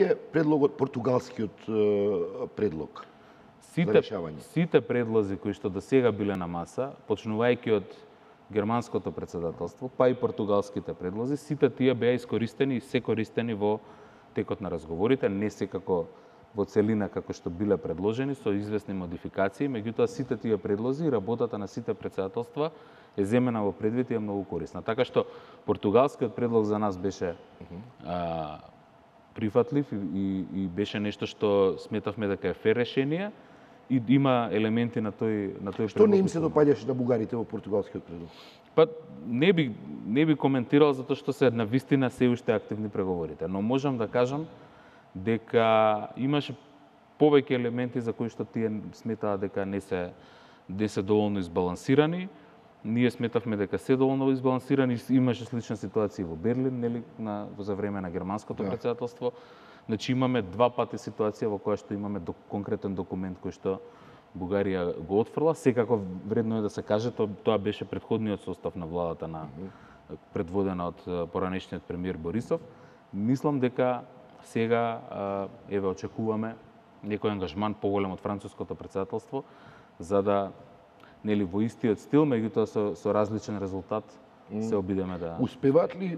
е предлогот, португалскиот предлог за решавање? Сите предлози кои што до сега биле на маса, почнувајќи од германското председателство, па и португалските предлози, сите тие беа искористени и се користени во текот на разговорите, не секако во целина како што биле предложени, со известни модификации, меѓутоа сите тие предлози и работата на сите председателства е земена во предвид и е многу корисна. Така што португалскиот предлог за нас беше прифатлив и беше нешто што сметавме дека е фер решение и има елементи на тој предлог. Што не им се допаѓаше на бугарите во португалскиот предлог? Па не би коментирал затоа што се на вистина се уште активни преговорите, но можам да кажам дека имаше повеќе елементи за кои што тие сметаа дека не се доволно избалансирани. Ние сметавме дека се доволно избалансирани, имаше слична ситуација во Берлин, нели, за време на германското председателство. Значи имаме два пати ситуација во која што имаме конкретен документ кој што Бугарија го отфрла. Секако вредно е да се каже, тоа беше претходниот состав на владата предводена од поранешниот премиер Борисов. Мислам дека сега еве очекуваме некој ангажман поголем од француското председателство за да нели во истиот стил, меѓутоа со различен резултат се обидеме да... Успеваат ли